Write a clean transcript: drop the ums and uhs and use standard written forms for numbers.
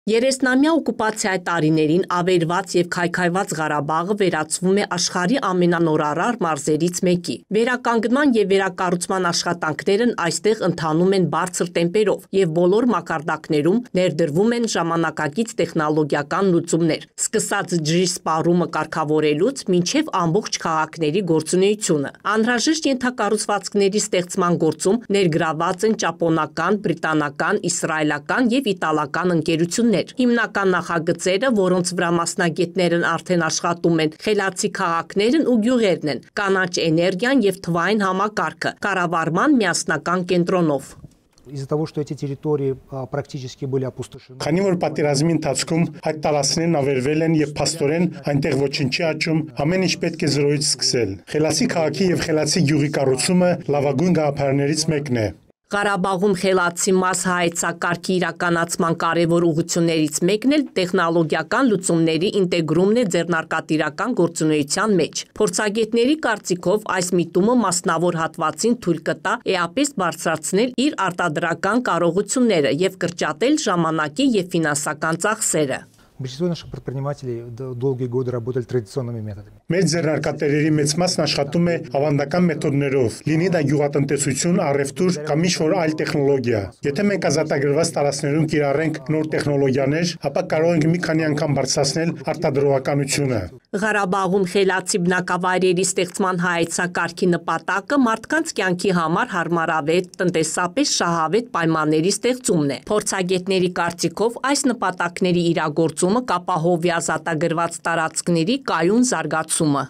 30-ամյա օկուպացիայի տարիներին ավերված և քայքայված Ղարաբաղը վերածվում է աշխարհի ամենանորարար մարզերից մեկի։ Վերականգնման և վերակառուցման աշխատանքներն այստեղ ընթանում են բարձր տեմպերով և բոլոր մակարդակներում ներդրվում են ժամանակակից տեխնոլոգիական լուծումներ, սկսած ջրի սպառումը կարգավորելուց մինչև ամբողջ քաղաքների գործունեությունը։ Անհրաժեշտ ենթակառուցվածքների ստեղծման գործում ներգրավված են ճապոնական, բրիտանական, իսրայելական և իտալական ընկերություններ։ Հիմնական նախագծերը, որոնց վրա մասնագետներն արդեն աշխատում են, խելացի քաղաքներն ու գյուղերն են, կանաչ էներգիան և թվային համակարգը, կառավարման միասնական կենտրոնով։ Из-за того, что эти территории практически были опустошены. Քանի որ պատերազմի ընթացքում այդ տարածքներն ավերվել են եւ փաստորեն այնտեղ ոչինչ չի աճում, ամեն ինչ պետք է զրոյից սկսել։ Խելացի քաղաքի եւ խելացի գյուղի կառուցումը լավագույն գաղափարներից մեկն է։ Ղարաբաղում խելացի մասսահայեցակարգի իրականացման կարևոր ուղղություններից մեկն էլ տեխնոլոգիական լուծումների ինտեգրումն է ձեռնարկատիրական գործունեության մեջ։ Փորձագետների կարծիքով այս միտումը մասնավոր հատվածին թույլ կտա էապես բարձրացնել իր արտադրական կարողությունները եւ կրճատել ժամանակի եւ ֆինանսական ծախսերը։ Большинство наших предпринимателей долгие годы работали традиционными методами. Մեր ձեռնարկատերերի մեծ մասն աշխատում է ավանդական մեթոդներով, լինի դա գյուղատնտեսություն, առևտուր կամ ինչ-որ այլ տեխնոլոգիա։ Եթե մենք ազատագրված տարածքներում կիրառենք նոր տեխնոլոգիաներ, ապա կարող ենք մի քանի անգամ բարձրացնել արտադրողականությունը։ Ղարաբաղում խելացի բնակավայրերի ստեղծման հայեցակարգի նպատակը մարդկանց կյանքի համար հարմարավետ, տնտեսապես շահավետ պայմանների ստեղծումն է։ Փորձագետների կարծիքով այս նպատակների իրագործումը կապահովի ազատագրված տարածքների կայուն զարգացումը։